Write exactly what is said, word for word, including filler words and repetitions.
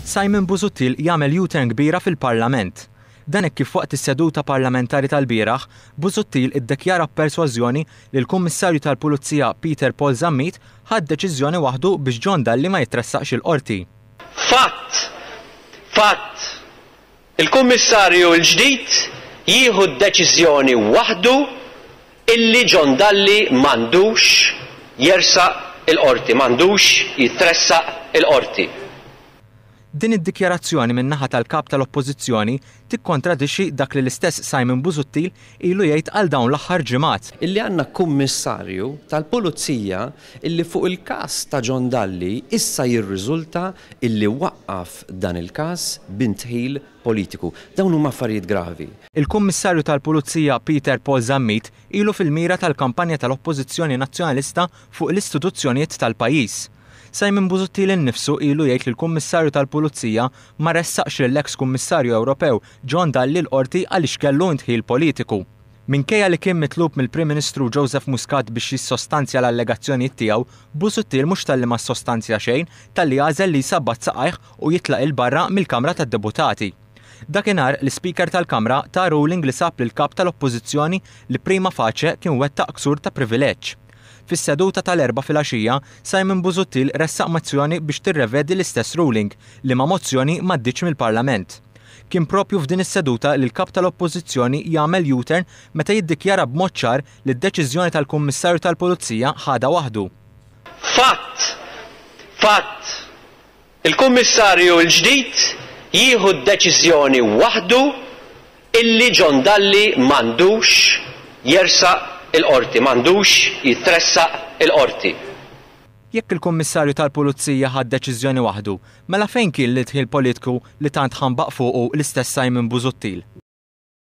Simon Busuttil jagħmel U-turn kbira fil-Parlament. Dan hekk kif waqt is-seduta parlamentari tal-bieraħ, Busuttil iddikjara b'persważjoni li l-Kummissarju tal-Pulizija Peter Paul Zammit ħa deċiżjoni waħdu biex John Dalli ma jitressaqx il-qorti. Fatt! Fatt! Il-Kummissarju l-ġdid jieħu d-deċiżjoni waħdu illi John Dalli m'għandux jersaq il-qorti, m'għandux jitressaq il-qorti. Din id-dikjarazzjoni min-naħa tal-kap tal-Oppożizzjoni tikkontradixxi dak li l-istess Simon Busuttil ilu jgħid għal dawn l-aħħar ġimgħat. Illi għandna kummissarju tal-Pulizija illi fuq il-każ ta' John Dalli issa jirriżulta illi waqqaf dan il-każ b'indħil politiku. Dawn huma affarijiet gravi. Il-Kummissarju tal-Pulizija Peter Paul Zammit ilu fil-mira tal-kampanja tal-Oppożizzjoni Nazzjonalista fuq l-istituzzjonijiet tal-pajjiż. Simon Busuttil innifsu ilu jgħid li l-Kummissarju tal-Pulizija ma ressaqx lill-eks Kummissarju Ewropew John Dalli l-qorti għaliex kellu indħil politiku. Minkejja li kien mitlub mill-Prim Ministru Joseph Muscat biex jissostanzja l-allegazzjonijiet tiegħu, Busuttil mhux talli ma ssostanzja xejn, talli għażel li jsabbat saqajh u jitlaq 'il barra mill-Kamra tad-Deputati. Dakinhar l-Ispeaker tal-Kamra ta ruling li sab lill-kap tal-Oppożizzjoni li prima facie kien wettaq ksur ta' privileġġ. Fis-seduta tal-Erbgħa filgħaxija, Simon Busuttil ressaq mozzjoni biex tirrevedi l-istess ruling li ma mozzjoni m'għaddietx mill-Parlament. Kien propju f'din is-seduta li l-kap tal-Oppożizzjoni jagħmel U-turn meta jiddikjara b'mod ċar li d-deċiżjoni tal-Kummissarju tal-Pulizija ħadha waħdu. Fatt! Fatt! Il-Kummissarju l-ġdid jieħu d-deċiżjoni waħdu illi John Dalli m'għandux jersaq il-qorti, m'għandux jitressaq il-qorti. Jekk il-Kummissarju tal-Pulizija ħa deċiżjoni waħdu, mela fejn kien l-indħil politiku li tant ħambaq fuqu l-istess Simon Busuttil?